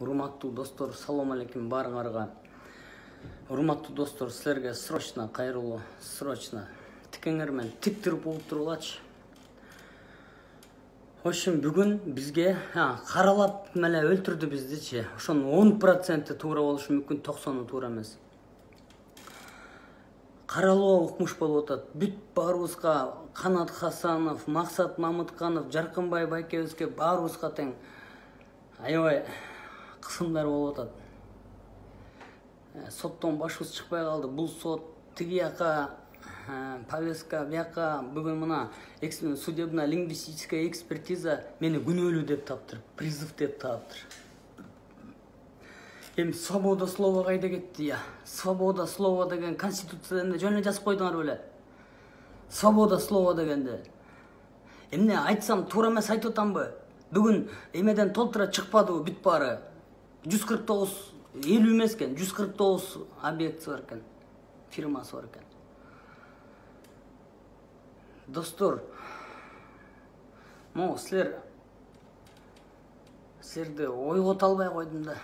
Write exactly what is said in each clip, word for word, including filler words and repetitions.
Урматтуу достор, салам алейкум баарыңарга. Урматтуу достор, силерге срочно кайрылуу, срочно тикеңер менен тик туруп болуп турулачы. Ошон бүгүн бизге каралап меле өлтүрдү биздичи. Ошонун он проценти туура болушу мүмкүн, токсону туура эмес. Каралуу укмуш болуп атат. Бүт баарыбызга Канат Хасанов, Максат Мамытканов, Жаркынбай байкебизге баарыбызга тең аябай кысымдар болуп атат. Соттон башыбыз чыкпай калды. Бул сот тиги жака повестка, бияка бүгүн мына судебно лингвистическая экспертиза мени күнөөлүү деп таптыр, призыв деп таптыр. Эми свобода слова кайда кетти я? Свобода слова деген конституцияда жөн эле жазып койдуңар беле? Свобода слова дегенде. Эмне айтсам туура эмес айтып атамбы? Бүгүн эмеден толтура чыкпадыбы бүт баары? жүз кырк тогуз, элүү эмес экен, жүз кырк тогуз объекти бар экен, фирмасы бар экен. Достор, могу силер силерди ойгото албай койдум да.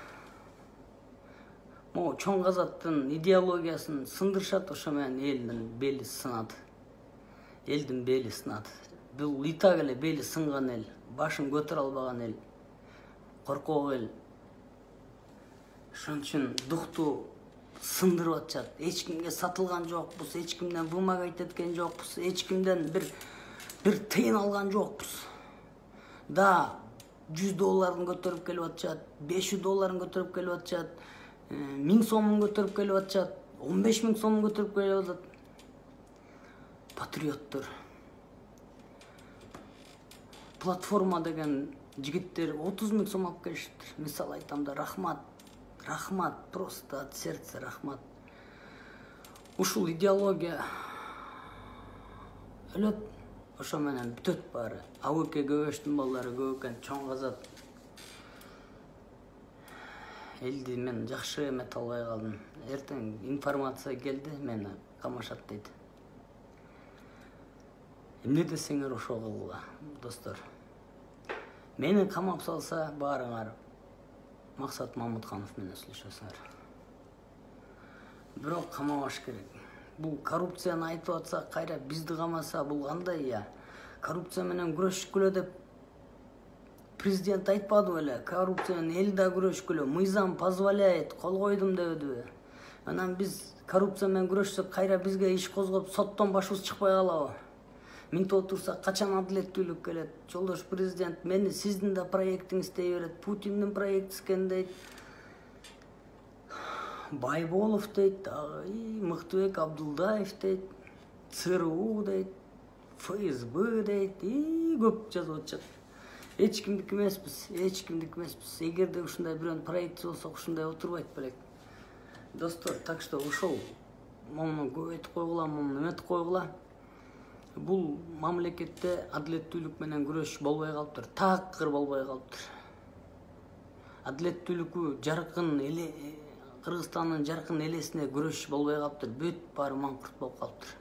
Могу чоң казаттын идеологиясын сындырышат, ошо менен элдин бели сынат. Элдин бели сынат. Бул и так эле бели сынган эл, башын көтөрө албаган эл, коркок эл. Ошон үчүн дукту сындырып атышат. Эч кимге сатылган жокпуз, эч кимден вымогать эткен жокпуз, эч кимден бир бир тыйын алган жокпуз. Да, жүз долларын көтөрүп келип атышат, беш жүз долларын көтөрүп келип атышат, миң сомун көтөрүп келип атышат, он беш миң сомун көтөрүп келип атат. Патриоттор. Платформа деген жигиттер отуз миң сом алып келишиптир. Мисал айтам да, рахмат. Рахмат, просто от сердца рахмат. Ушул идеология өлөт, ошо менен бүтөт баары. Абыке Көбөштүн балдары көп экен, чоң казат. Элди мен жакшы эмете албай калдым. Эртең информация келди, мени камашат дейт. Эмне десеңер ошо кылгыла, достор. Мени камап салса баарыңар Максат Мамытканов менен сүйлөшөсүңөр. Бирок камабаш керек. Бул коррупцияны айтып атса, кайра бизди камаса, бул кандай я? Коррупция менен күрөшкүлө деп президент айтпады беле? Коррупция менен эл да күрөшкүлө, мыйзам позволяет, кол койдум дебедиби? Анан биз коррупция менен күрөшсөк, кайра бизге иш козгоп, соттон башыбыз чыкпай калабы? Минтип отурсак, качан адилеттүүлүк келет? Жолдош президент, мени сиздин да проектиңиз дей берет, Путиндин проекти экен дейт. Байболов дейт, Мыктыбек Абдулдаев дейт, ЦРУ дейт, ФСБ дейт, и көп жазып атышат. Эч кимдики эмеспиз, эч кимдики эмеспиз. Эгерде ушундай бирөөнүн проекти болсо, ушундай отурбайт белек. Достор, так что ушул момуну көбөйтүп койгула, момуну эметип койгула. Бул мамлекетте адилеттүүлүк менен күрөш болбой калыптыр, такыр болбой калыптыр. Адилеттүүлүккө жаркын эле Кыргызстандын жаркын элесине күрөш болбой калыптыр, бүт баары маңкурт болуп калыптыр.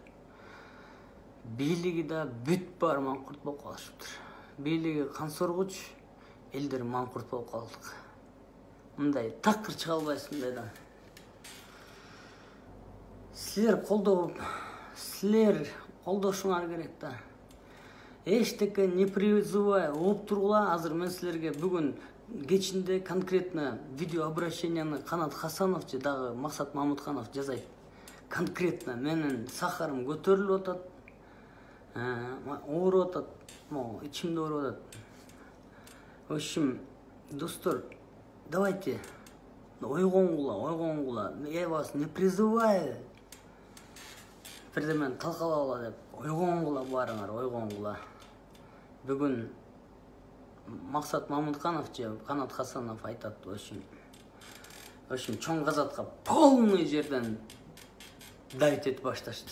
Бийлиги да бүт баары маңкурт болуп калышыптыр. Бийлиги кан соргуч, элдер маңкурт болуп калдык. Мындай такыр чыга албайсың мындай. Силер колдоп, силер колдошуңар керек да. Эчтеке не призывай, оп тургула. Азыр мен силерге бүгүн кечинде конкретно видео обращенияны Канат Хасанов же дагы Максат Мамытканов жазайт. Конкретно менин сахарым көтөрүлүп атат, ооруп атат, могу ичимде ооруп атат. В общем, достор, давайте ойгонгула, ойгонгула. Я вас не призываю бирдемени талкалагыла деп, ойгонгула баарыңар, ойгонгула. Бүгүн Максат Мамытканов же Канат Хасанов айтат, в общем, в общем, чоң казатка полный жерден давить этип башташты.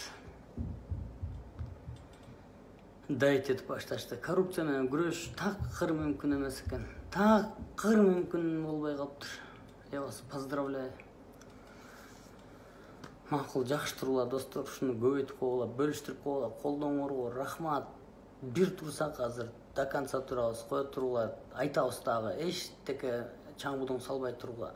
Давить этип башташты. Коррупция менен күрөш такыр мүмкүн эмес экен. Такыр мүмкүн болбой калыптыр. Я вас поздравляю. Макул, жакшы тургула, достор, ушуну көбөйтүп койгула, бөлүштүрүп койгула, колдооңорго рахмат. Бир турсак азыр до конца турабыз, кое тургула, айтабыз дагы, эчтеке чаң будуң салбай турууга.